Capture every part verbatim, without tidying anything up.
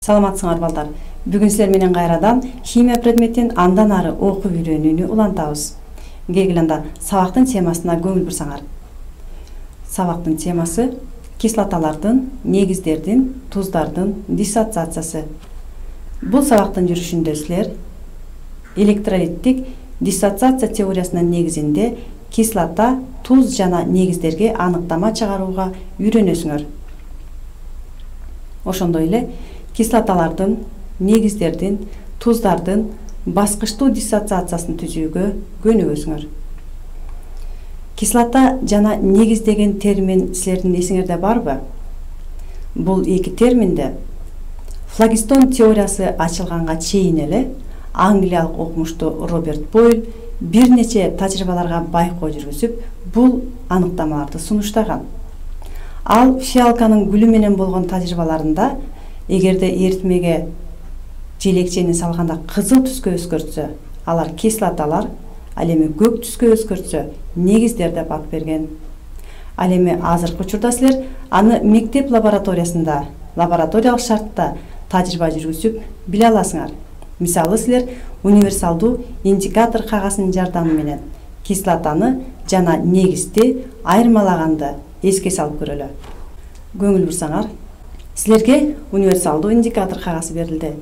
Саламатсыңар балдар. Бүгүн силер менен кайрадан химия предметин андан ары окуп үйрөнүүнү улантабыз. Келгиле анда сабактын темасына көңүл бурсаңар. Сабактын темасы кислоталардын, негиздердин, туздардын диссоциациясы. Бул сабактын жүрүшүндө силер электролиттик диссоциация теориясынын негизинде кислота, туз жана негиздерге аныктама чыгарууга үйрөнөсүңөр. Ошондой эле кислоталардын, негиздердин, туздардын баскычтуу диссоциациясын түзүүгө көнүгөсүңөр. Кислота жана негиз деген термин силердин эсиңерде барбы? Бул эки терминде флагистон теориясы ачылганга чейин эле англиялык окумуштуу Роберт Бойл бир нече тажрыйбаларга байкоо жүргүзүп, бул аныктамаларды сунуштаган. Ал фиалканын гүлү менен болгон тажрыйбаларында эгерде эритмеге желекчени салганда кызыл түскө өзгөртсө, алар кислоталар, ал эми көк түскө өзгөртсө, негиздер деп ат берген. Ал эми азыркы учурда силер аны мектеп лабораториясында, лабораториялык шартта тажрыйба жүргүзүп биле аласыңар. Мисалы силер универсалдуу индикатор кагазынын жардамы менен кислотаны жана негизди айырмалаганды эске салып көрөлү. Көңүл бурсаңар, силерге универсалдуу индикатор кагазы берилди.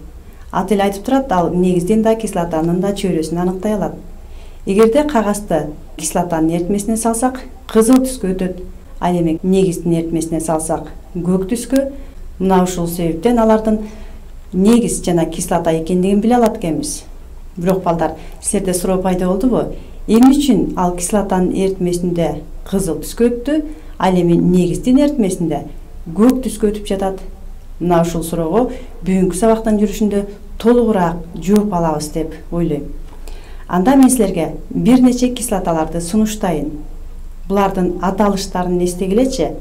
Ат эле айтып турат, ал негиздин да кислотанын да чөйрөсүн аныктай алат. Эгерде кагазды кислотанын эритмесине салсак, кызыл түскө өтөт. Ал эми негиздин эритмесине салсак, көк түскө. Мына ушул себептен алардын негиз жана кислота экендигин биле алат экенбиз. Бирок балдар, силерде суроо пайда болдубу? Эмне үчүн ал кислотанын эритмесинде кызыл түскө өттү, ал эми негиздин эритмесинде көк түскө өтүп жатат? Мына ушул суроого бүгүнкү сабактын жүрүшүндө толугураак жооп алабыз деп ойлойм. Анда мен силерге бир нече кислоталарды сунуштайын. Булардын аталыштарын эстегилечи.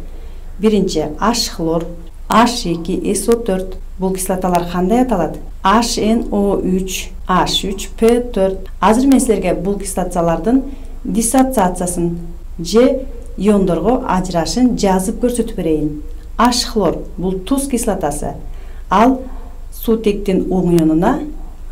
Биринчи H хлор, H эки эс о төрт. Бул кислоталар кандай аталат? H N O үч, H үч P төрт. Азыр мен силерге бул кислоталардын диссоциациясын же иондорго ажырашын жазып көрсөтүп берейин. H хлор бул туз кислотасы. Ал суутектин оң ионуна,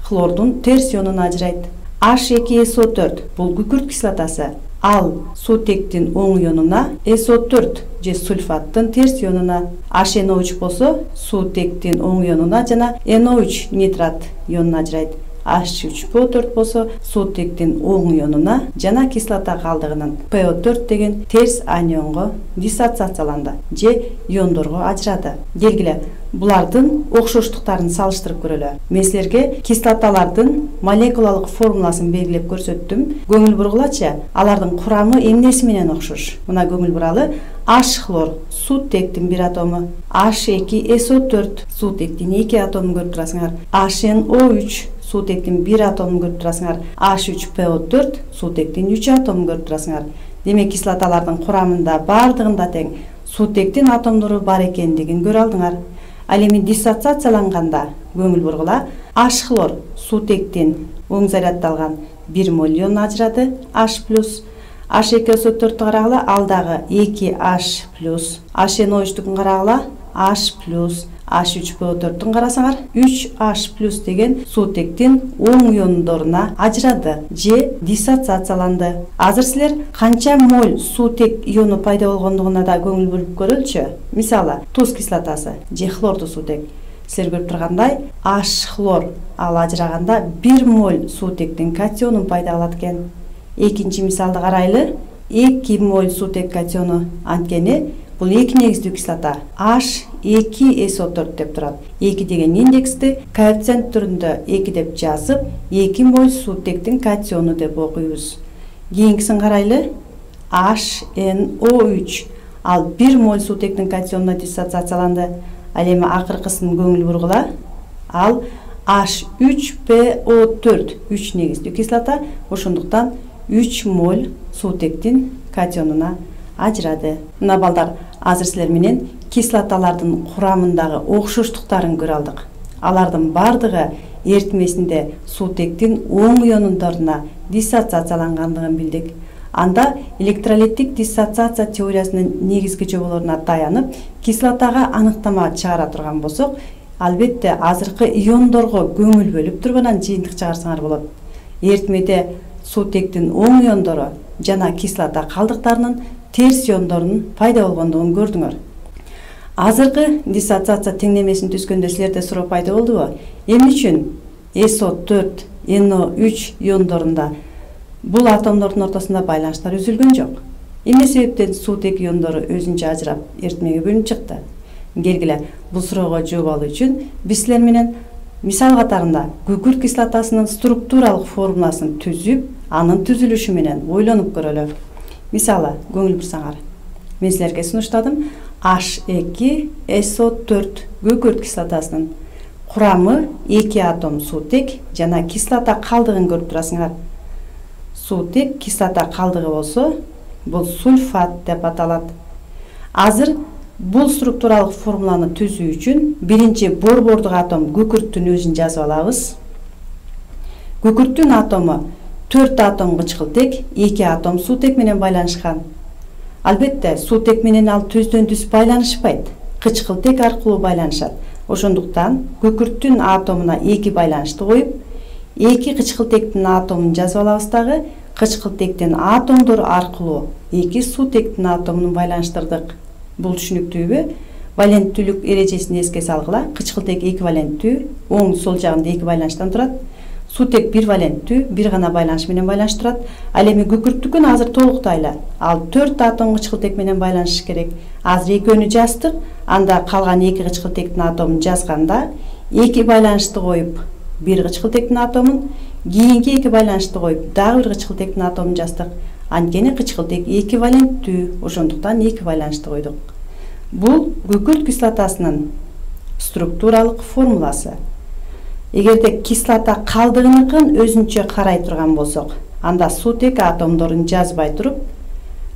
хлордун терс ионуна ажырайт. H эки эс о төрт бул күкүрт кислотасы. Ал суутектин оң ионуна, эс о төрт же сульфаттын терс ионуна. H N O үч болсо суутектин оң ионуна жана N O үч нитрат ионуна ажырайт. H үч P O төрт болсо суутектин оң ионуна жана кислота калдыгынын P O төрт деген терс анионго диссоциацияланды же иондорго ажырады. Келгиле, булардын окшоштуктарын салыштырып көрөлү. Мен силерге кислоталардын молекулалык формуласын белгилеп көрсөттүм. Көңүл бургулачы, алардын курамы эмнеси менен окшош? Мына көңүл буралы. H хлор суутектин бир атому, H эки эс о төрт суутектин эки атомун көрүп турасыңар, H N O үч суутектин бир атомун көрүп турасыңар, H үч P O төрт суутектин үч атомун көрүп турасыңар. Демек кислоталардын курамында бардыгында тең суутектин атомдору бар экендигин көрө алдыңар. Ал эми диссоциацияланганда көңүл бургула, H хлор суутектин оң заряддалган бир моль ионун ажырады, H плюс. H эки эс о төрттү карагыла, ал дагы эки H плюс. H N O үчтүкүн карагыла, H плюс. H үч P O төрттүн карасаңар, үч H плюс деген суутектин оң иондоруна ажырады же диссоциацияланды. Азыр силер канча моль суутек иону пайда болгондугуна да көңүл буруп көрөлчү. Мисалы, туз кислотасы же хлордуу суутек. Силер көрүп тургандай, H хлор ал ажыраганда бир моль суутектин катионун пайда кылат экен. Экинчи мисалды карайлы. эки моль суутек катиону, анткени бул эки негиздүү кислота. H эки эс о төрт деп турат. эки деген индексти коэффициент түрүндө эки деп жазып, эки моль суутектин катиону деп окуйбуз. Кийинкисин карайлы. H N O үч ал бир моль суутектин катионуна диссоциацияланды. Ал эми акыркысын көңүл бургула. Ал H үч P O төрт үч негиздүү кислота, ошондуктан үч моль суутектин катионуна ажырады. Мына балдар, азыр силер менен кислоталардын курамындагы окшоштуктарын көрө алдык. Алардын бардыгы эритмесинде суутектин оң ионундоруна диссоциациялангандыгын билдик. Анда электролиттик диссоциация теориясынын негизги жоболоруна таянып, кислотага аныктама чыгара турган болсок, албетте азыркы иондорго көңүл бөлүп туруп анан жыйынтык чыгарсаңар болот. Эритмеде суутектин оң иондору жана кислота калдыктарынын терс иондорунун пайда болгондугун көрдүңөр. Азыркы диссоциация теңдемесин түзгөндө силерде суроо пайда болдубу? Эмне үчүн эс о төрт, эн о үч иондорунда бул атомдордун ортосунда байланыштар үзүлгөн жок? Эмне себептен суутек иондору өзүнчө ажырап эритмеге бөлүнүп чыкты? Келгиле, бул суроого жооп алуу үчүн биз силер менен мисал катарында күкүрт кислотасынын структуралык формуласын түзүп, анын түзүлүшү менен ойлонуп көрөлү. Мисалы, көңүл бурсаңар, мен силерге сунуштадым H эки эс о төрт күкүрт кислотасынын курамы эки атом суутек жана кислота калдыгын көрүп турасыңар. Суутек кислота калдыгы болсо, бул сульфат деп аталат. Азыр бул структуралык формуланы түзүү үчүн биринчи борбордук атом күкүрттүн өзүн жазып алабыз. Күкүрттүн атому төрт атом кычкылтек, эки атом суутек менен байланышкан. Албетте, суутек менен ал түздөн түз байланышпайт, кычкылтек аркылуу байланышат. Ошондуктан күкүрттүн атомуна эки байланышты коюп, эки кычкылтектин атомун жазып алабыз дагы, кычкылтектин атомдору аркылуу эки суутектин атомун байланыштырдык. Бул түшүнүктүүбү? Валенттүүлүк эрежесин эске салгыла. Кычкылтек эки валенттүү, оң сол жагында эки байланыштан турат. Суутек бир валенттүү, бир гана байланыш менен байланыш турат. Ал эми күкүрттүкүн азыр толуктайлы. Ал төрт атом кычкылтек менен байланыш керек. Азыр экөөнү жаздык, анда калган эки кычкылтектин атомун жазганда эки байланышты коюп, бир кычкылтектин атомун, кийинки эки байланышты коюп, дагы бир кычкылтектин атомун жаздык. Анткени кычкылтек эки валенттүү, ошондуктан эки байланышты койдук. Бул күкүрт кислотасынын структуралык формуласы. Эгерде кислота калдыгыныкын өзүнчө карай турган болсок, анда суутек атомдорун жазбай туруп,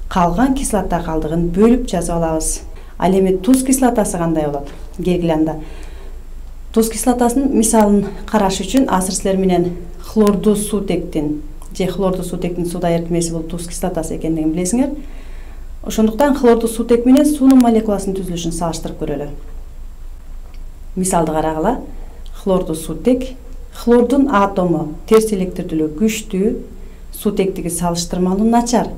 калган кислота калдыгын бөлүп жазып алабыз. Ал эми туз кислотасы кандай болот? Келгиле анда. Туз кислотасынын мисалын караш үчүн азыр силер менен хлордуу суутектин же хлордуу суутектин сууда эритмеси бул туз кислотасы экендигин билесиңер. Ошондуктан хлордуу суутек менен суунун молекуласынын түзүлүшүн салыштырып көрөлү. Мисалды карагыла. Хлордуу суутек, хлордун атому терс электирдүүлүгү күчтүү, суутектиги салыштырмалуу начар.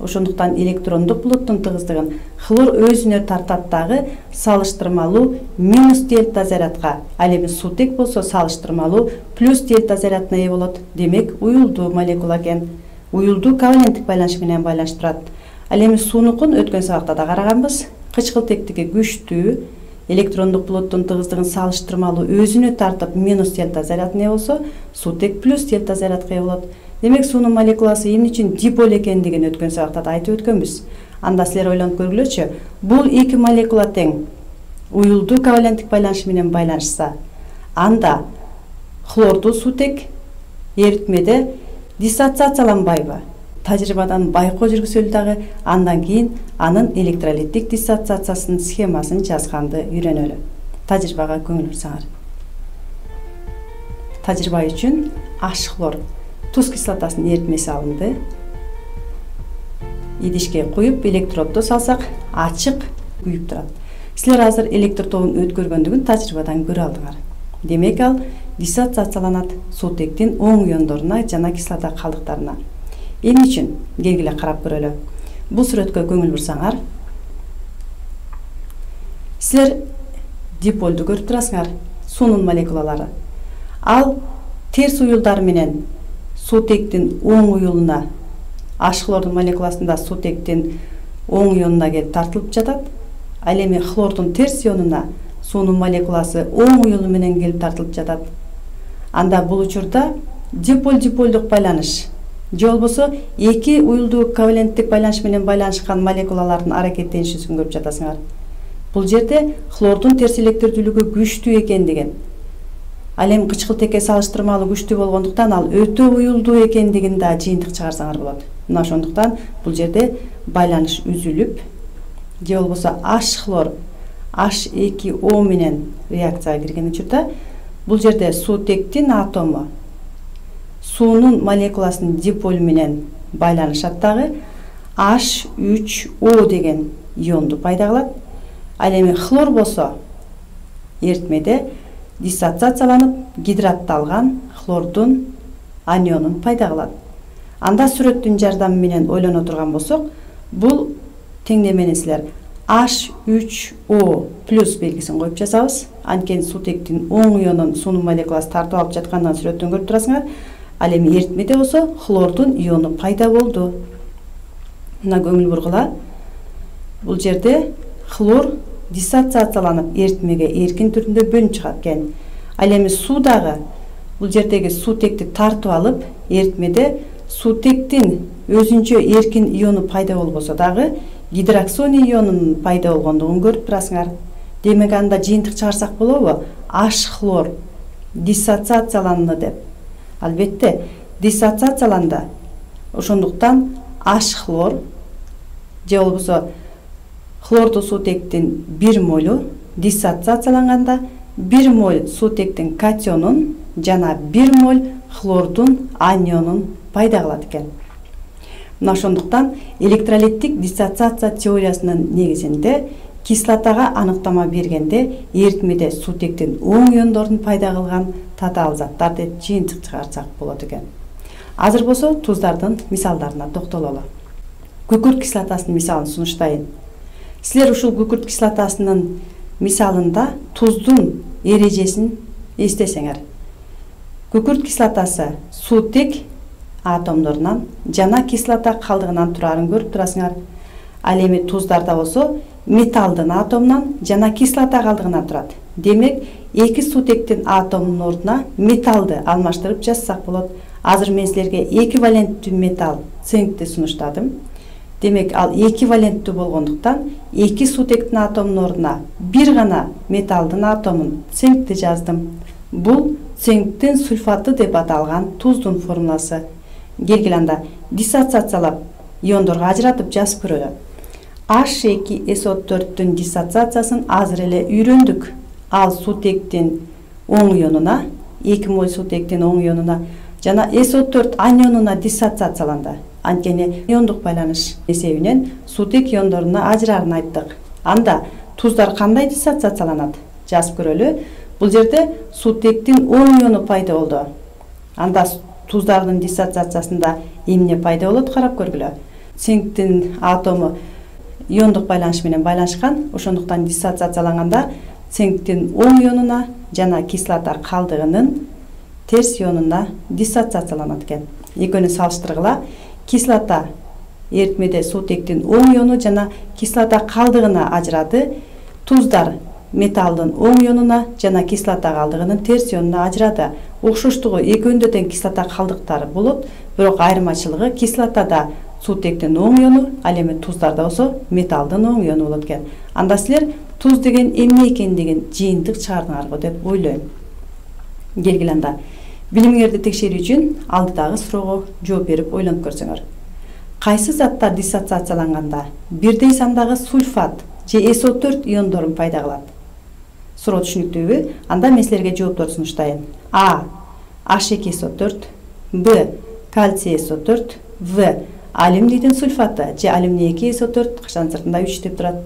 Ошондуктан электрондук булуттун тыгыздыгын хлор өзүнө тартат дагы салыштырмалуу минус дельта зарядка. Ал эми суутек болсо салыштырмалуу плюс дельта зарядына ээ болот. Демек, уюлдуу молекула экен. Уюлдуу коваленттик байланыш менен байланыштырат. Ал эми суунукун өткөн сабакта да караганбыз. Кычкылтектиги күчтүү, электрондук булуттун тыгыздыгын салыштырмалуу өзүнө тартып минус дельта зарядына ээ болсо, суутек плюс дельта зарядка ээ болот. Демек, суунун молекуласы эмне үчүн диполь экендигин өткөн сабакта да айтып өткөнбүз. Анда силер ойлонуп көргүлөчү, бул эки молекула тең уюлдуу коваленттик байланыш менен байланышса, анда хлордуу суутек эритмеде диссоциацияланбайбы? Тажрыйбадан байкоо жүргүзөлү дагы, андан кийин анын электролиттик диссоциациясынын схемасын жазганды үйрөнөлү. Тажрыйбага көңүл бурсаңар. Тажрыйба үчүн H хлор туз кислотасынын эритмеси алынды. Идишке куюп, электродду салсак, ачык күйүп турат. Силер азыр электр тобун өткөргөндүгүн тажрыйбадан көрө алдыңар. Демек, ал диссоциацияланат суутектин оң иондоруна жана кислота калдыктарына. Эмне үчүн? Келгиле карап көрөлү. Бул сүрөткө көңүл бурсаңар, силер диполду көрүп турасыңар, суунун молекулалары. Ал терс уюлдар менен суутектин оң уюлуна, H хлордун молекуласында суутектин оң ионуна келип тартылып жатат. Ал эми хлордун терс ионуна суунун молекуласы оң уюлу менен келип тартылып жатат. Анда бул учурда диполь-диполдук байланыш же болбосо эки уюлдуу коваленттик байланыш менен байланышкан молекулалардын аракеттенишүүсүн көрүп жатасыңар. Бул жерде хлордун терс электирдүүлүгү күчтүү экендигин, ал эми кычкылтекке салыштырмалуу күчтүү болгондуктан ал өтө уюлдуу экендигин да жыйынтык чыгарсаңар болот. Мына ошондуктан бул жерде байланыш үзүлүп, же болбосо H хлор H эки O менен реакцияга кирген учурда бул жерде суутектин атому суунун молекуласынын диполь менен байланышат дагы H үч O деген ионду пайда кылат. Ал эми хлор болсо эритмеде диссоциацияланып гидратталган хлордун анионун пайда кылат. Анда сүрөттүн жардамы менен ойлоно турган болсок, бул теңдемени силер H үч O плюс белгисин коюп жасабыз. Анткени сутектин оң ионун суунун молекуласы тартып алып жаткандан сүрөттөн көрүп турасыңар. Ал эми эритмеде болсо хлордун иону пайда болду. Мына көңүл бургула. Бул жерде хлор диссоциацияланып эритмеге эркин түрүндө бөлүнүп чыгат экен. Ал эми суудагы бул жердеги сутекти тартып алып эритмеде сутектин өзүнчө эркин иону пайда болбосо дагы гидроксоний ионунун пайда болгондугун көрүп турасыңар. Демек анда жыйынтык чыгарсак болобу? H хлор диссоциацияланды деп. Албетте, диссоциацияланды. Ошондуктан H хлор же болбосо хлордуу сутектин бир молу диссоциацияланганда бир моль сутектин катионун жана бир моль хлордун анионун пайда кылат экен. Мына ошондуктан электролиттик диссоциация теориясынын негизинде кислотага аныктама бергенде эритмеде сутектин оң иондорун пайда кылган татаал заттар деп жыйынтык чыгарсак болот экен. Азыр болсо туздардын мисалдарына токтололу. Күкүрт кислотасынын мисалын сунуштайын. Силер ушул күкүрт кислотасынын мисалында туздун эрежесин эстесеңер. Күкүрт кислотасы сутек атомдорунан жана кислота калдыгынан турарын көрүп турасыңар. Ал эми туздарда болсо металдын атомунан жана кислота калдыгынан турат. Демек, эки сутектин атомунун ордуна металды алмаштырып жазсак болот. Азыр мен силерге эквиваленттүү металл цинкти сунуштадым. Демек, ал эквиваленттүү болгондуктан эки сутектин атомунун ордуна бир гана металдын атомун цинкти жаздым. Бул цинктин сульфаты деп аталган туздун формуласы. Келгиле анда диссоциациялап иондорго ажыратып жазып көрөлү. H эки эс о төрттүн диссоциациясын азыр эле үйрөндүк. Ал сутектин оң ионуна, эки моль сутектин оң ионуна жана эс о төрт анионуна диссоциацияланды. Анткени иондук байланыш эсебинен сутек иондоруна ажырарын айттык. Анда туздар кандай диссоциацияланат? Жазып көрөлү. Бул жерде сутектин оң иону пайда болду. Анда туздардын диссоциациясында эмне пайда болот, карап көргүлө. Цинктин атому иондук байланыш менен байланышкан, ошондуктан диссоциацияланганда цинктин оң ионуна жана кислота калдыгынын терс ионуна диссоциацияланат экен. Экөөнү салыштыргыла. Кислота эритмеде сутектин оң иону жана кислота калдыгына ажырады. Туздар металдын оң ионуна жана кислота калдыгынын терс ионуна ажырады. Окшоштугу экөөндө тең кислота калдыктары болот, бирок айырмачылыгы кислотада сутектин оң иону, ал эми туздарда болсо металдын оң иону болот экен. Анда силер туз деген эмне экендигин жыйынтык чыгардыңарбы деп ойлойм. Келгиле анда билимиңерди текшерүү үчүн алдыдагы суроого жооп берип ойлонуп көрсөңөр. Кайсы заттар диссоциацияланганда бирдей сандагы сульфат же эс о төрт иондорун пайда кылат? Суроо түшүнүктүүбү? Анда мен силерге жооптор сунуштайын. А. H эки эс о төрт, Б. Кальций эс о төрт, В. Алюминдин сульфаты же алюминий эки эс о төрт кашан сыртында үч деп турат.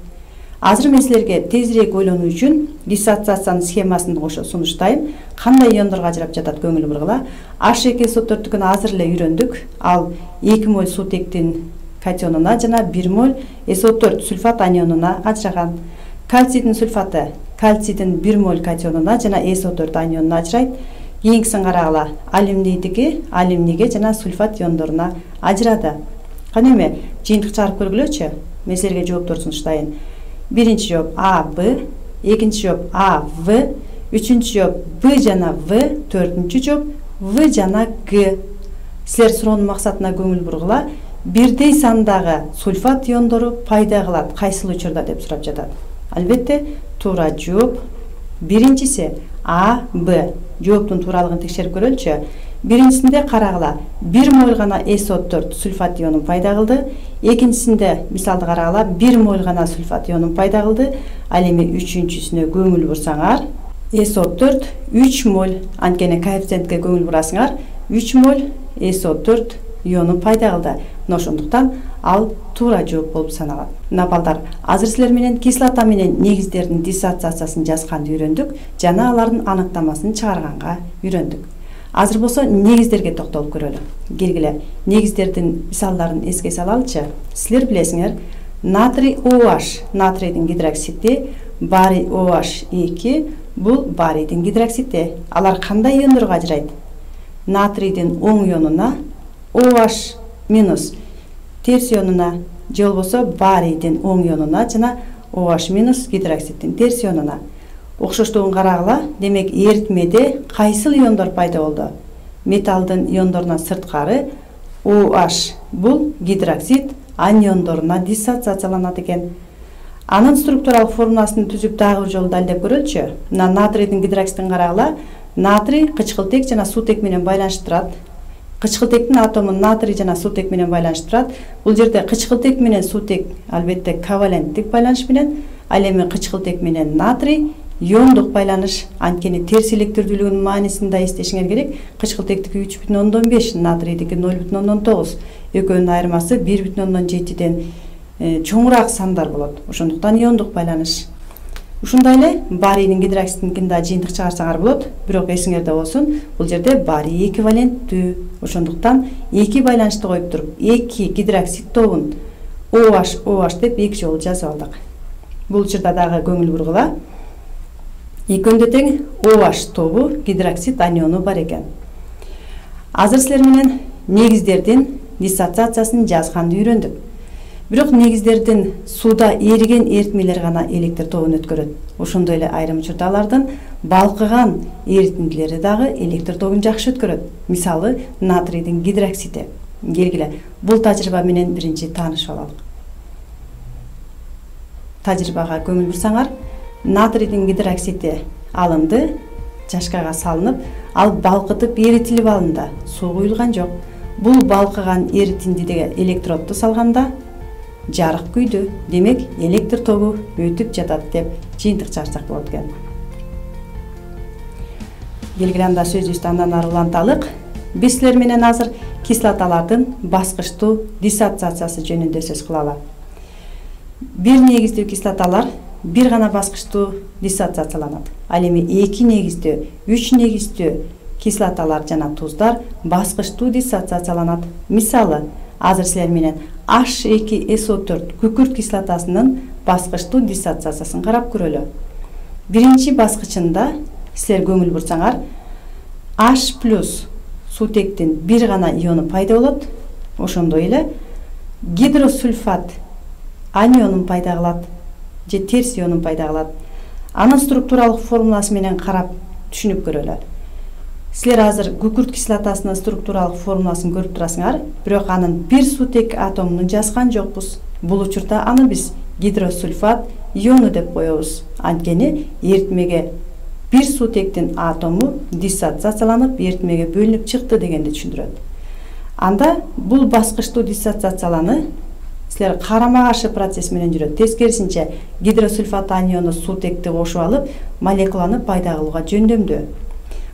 Азыр мен силерге тезирээк ойлонуу үчүн диссоциациянын схемасын кошо сунуштайм. Кандай иондорго ажырап жатат көңүл бургула. H эки эс о төрттүкүн азыр эле үйрөндүк. Ал эки моль сутектин катионуна жана бир моль эс о төрт сульфат анионуна ажыраган. Кальцийдин сульфаты кальцийдин бир моль катионуна жана эс о төрт анионуна ажырайт. Кийинкисин карагыла. Алюминийдики алюминийге жана сульфат иондоруна ажырады. Кана эми жыйынтык чыгарып көргүлөчү. Мен силерге жооптор сунуштайын. Биринчи жооп А, Б, экинчи жооп А, В, үчүнчү жооп Б жана В, төртүнчү жооп В жана Г. Силер суроонун максатына көңүл бургула. Бирдей сандагы сульфат иондору пайда кылат кайсыл учурда деп сурап жатат. Албетте, туура жооп биринчиси А, Б. Жооптун тууралыгын текшерип көрөлүчү. Биринчисинде карагыла, бир моль гана эс о төрт сульфат ионун пайда кылды. Экинчисинде мисалды карагыла, бир моль гана сульфат ионун пайда кылды. Ал эми үчүнчүсүнө көңүл бурсаңар, эс о төрт үч моль, анткени коэффициентке көңүл бурасыңар, үч моль эс о төрт ионун пайда кылды. мына ошондуктан ал туура жооп болуп саналат. Мына балдар, азыр силер менен кислота менен негиздердин диссоциациясын жазганды үйрөндүк жана алардын аныктамасын чыгарганга үйрөндүк. Азыр болсо негиздерге токтолуп көрөлү. Келгиле, негиздердин мисалдарын эске салалычы. Силер билесиңер, натрий OH, натрийдин гидроксиди, барий OH эки, бул барийдин гидроксиди. Алар кандай иондорго ажырайт? Натрийдин оң ионуна, OH минус терс ионуна, же болбосо барийдин оң ионуна жана OH минус гидроксиддин терс ионуна. Окшоштугун карагыла, демек эритмеде кайсыл иондор пайда болду? Металлдын иондорунан сырткары OH бул гидроксид аниондоруна диссоциацияланат экен. Анын структуралык формуласын түзүп дагы бир жолу далилдеп көрөлүчү. Мына натрийдин гидроксидин карагыла, натрий кычкылтек жана суутек менен байланышып турат. Кычкылтектин атомун натрий жана суутек менен байланышып турат. Бул жерде кычкылтек менен суутек албетте коваленттик байланыш менен, ал эми кычкылтек менен натрий иондук байланыш. Анткени терс электирдүүлүгүнүн маанисин да эстешиңер керек. Кычкылтектики үч бүтүн ондон беш, натрийдики ноль бүтүн ондон тогуз. Экөөнүн айырмасы бир бүтүн ондон жетиден чоңураак сандар болот. Ошондуктан иондук байланыш. Ушундай эле барийдин гидроксидинкин да жыйынтык чыгарсаңар болот, бирок эсиңерде болсун, бул жерде барий эквиваленттүү. Ошондуктан эки байланышты коюп туруп, эки гидроксид тобун OH OH деп эки жолу жазып алдык. Бул учурда дагы көңүл бургула. Экөөндө тең OH тобу гидроксид аниону бар экен. Азыр силер менен негиздердин диссоциациясын жазганды үйрөндүк. Бирок негиздердин сууда эриген эритмелер гана электр тобун өткөрөт. Ошондой эле айрым учурда алардын балкыган эритиндилери дагы электр тобун жакшы өткөрөт. Мисалы, натрийдин гидроксиди. Келгиле, бул тажрыйба менен биринчи таанышып алалык. Тажрыйбага көңүл бурсаңар, натрийдин гидроксиди алынды, чашкага салынып, ал балкытып эритилип алынды. Суу куюлган жок. Бул балкыган эритиндиге электродду салганда жарык күйдү. Демек, электр тобу өтүп жатат деп жыйынтык чыгарсак болот экен. Келгиле, анда сөзүбүздү андан ары уланталык. Биз силер менен азыр кислоталардын баскычтуу диссоциациясы жөнүндө сөз кылалы. Бир негиздүү кислоталар бир гана баскычтуу диссоциацияланат. Ал эми эки негиздүү, үч негиздүү кислоталар жана туздар баскычтуу диссоциацияланат. Мисалы, азыр силер менен H эки эс о төрт күкүрт кислотасынын баскычтуу диссоциациясын карап көрөлү. Биринчи баскычында силер көңүл бурсаңар, H плюс суутектин бир гана иону пайда болот. Ошондой эле гидросульфат анионун пайда кылат, же терс ионун пайда кылат. Анын структуралык формуласы менен карап түшүнүп көрөлү. Силер азыр күкүрт кислотасынын структуралык формуласын көрүп турасыңар, бирок анын бир суутек атомун жазган жокпуз. Бул учурда аны биз гидросульфат иону деп коебуз. Анткени эритмеге бир суутектин атому диссоциацияланып, эритмеге бөлүнүп чыкты дегенди түшүндүрөт. Анда бул баскычтуу диссоциацияланы силер карама каршы процесс менен жүрөт. Тескерисинче, гидросульфат аниону суутекти кошуп алып, молекуланы пайда кылууга жөндөмдүү.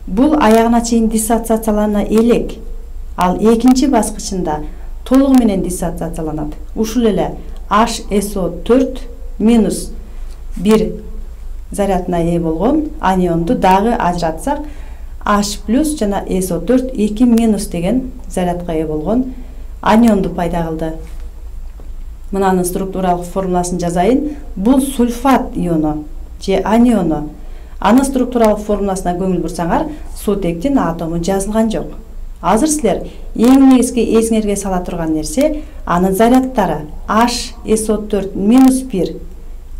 Бул аягына чейин диссоциациялана элек. Ал экинчи баскычында толугу менен диссоциацияланат. Ушул эле H эс о төрт минус бир зарядына ээ болгон анионду дагы ажыратсак, H плюс жана эс о төрт эки минус деген зарядка ээ болгон анионду пайда кылды. Мынанын структуралык формуласын жазайын. Бул сульфат иону же аниону. Анын структуралык формуласына көңүл бурсаңар, суутектин атому жазылган жок. Азыр силер эң негизги эсиңерге сала турган нерсе анын зарядтары H эс о төрт минус бир.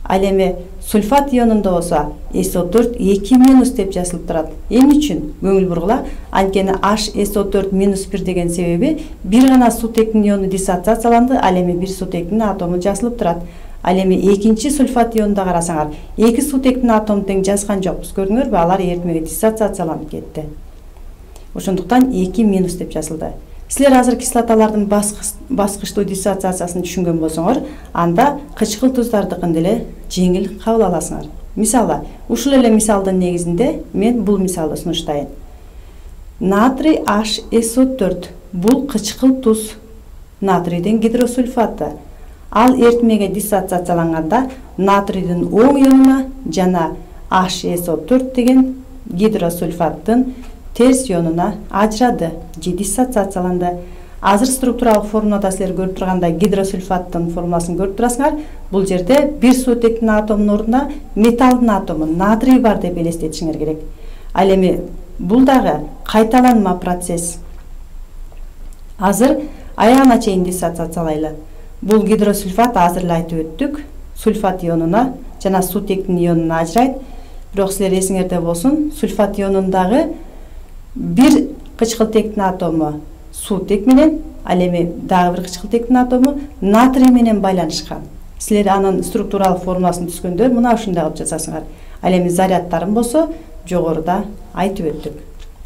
Ал эми сульфат ионунда болсо эс о төрт эки минус деп жазылып турат. Эмне үчүн? Көңүл бургула. Анткени H эс о төрт минус бир деген себеби бир гана суутектин иону диссоциацияланды, ал эми бир суутектин атому жазылып турат. Ал эми экинчи сульфат ионунда карасаңар, эки суутектин атому тең жазган жокпуз. Көрдүңөрбү? Алар эритмеге диссоциацияланып кетти. Ошондуктан эки минус деп жазылды. Силер азыр кислоталардын баскычтуу диссоциациясын түшүнгөн болсоңор, анда кычкыл туздардыкын деле жеңил кабыл аласыңар. Мисалы, ушул эле мисалдын негизинде мен бул мисалды сунуштайын. Натрий H эс о төрт бул кычкыл туз. натрийдин гидросульфаты. Ал эритмеге диссоциацияланганда натрийдин оң ионуна жана эйч эс о төрт деген гидросульфаттын терс ионуна ажырады же диссоциацияланды. Азыр структуралык формулада силер көрүп тургандай гидросульфаттын формуласын көрүп турасыңар. Бул жерде бир суутектин атомунун ордуна металлдын атому натрий бар деп элестетишиңер керек. Ал эми бул дагы кайталанма процесс. Азыр аягына чейин диссоциациялайлы. Бул гидросульфат азыр эле айтып өттүк. Сульфат ионуна жана суутектин ионуна ажырайт. Бирок силер эсиңерде болсун, сульфат ионундагы бир кычкылтектин атому суутек менен, ал эми дагы бир кычкылтектин атому натрий менен байланышкан. Силер анын структуралык формуласын түзгөндө мына ушундай кылып жасасыңар. Ал эми зарядтарын болсо жогоруда айтып өттүк.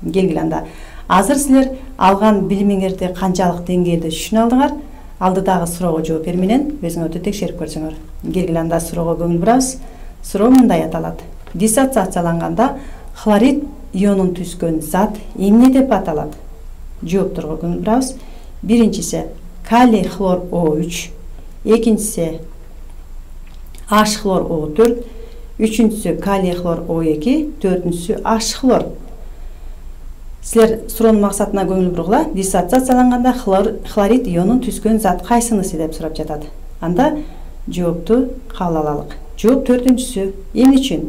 Келгиле анда. Азыр силер алган билимиңерди канчалык деңгээлде түшүнө алдыңар? Алдыдагы суроого жооп берүү менен өзүңөрдү текшерип көрсөңөр. Келгиле анда суроого көңүл бурабыз. Суроо мындай аталат. Диссоциацияланганда хлорид ионун түзгөн зат эмне деп аталат? Жоопторго көңүл бурабыз. Биринчиси калий хлор о үч, экинчиси H хлор о төрт, үчүнчүсү калий хлор о эки, төртүнчүсү H хлор. Силер суроонун максатына көңүл бургула. Диссоциацияланганда хлорид ионун түзгөн зат кайсынысы деп сурап жатат. Анда жоопту кабыл алалык. Жооп төртүнчүсү. Эмне үчүн?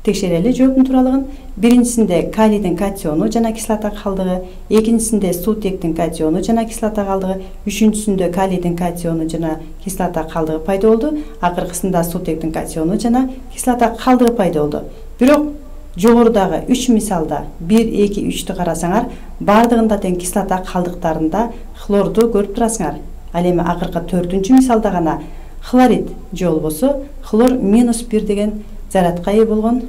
Текшерели жооптун тууралыгын. Биринчисинде калийдин катиону жана кислота калдыгы, экинчисинде суутектин катиону жана кислота калдыгы, үчүнчүсүндө калийдин катиону жана кислота калдыгы пайда болду, акыркысында суутектин катиону жана кислота калдыгы пайда болду. Бирок жогорудагы үч мисалда бир, эки, үчтү карасаңар, бардыгында тең кислота калдыктарында хлорду көрүп турасыңар. Ал эми акыркы төртүнчү мисалда гана хлорид же болбосо хлор минус бир деген зарядка ээ болгон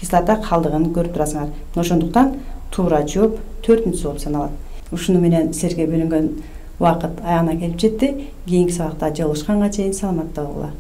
кислота калдыгын көрүп турасыңар. Ошондуктан туура жооп төртүнчүсү болуп саналат. Ушуну менен силерге бөлүнгөн убакыт аягына келип жетти. Кийинки сабакта жолугушканга чейин саламатта болгула.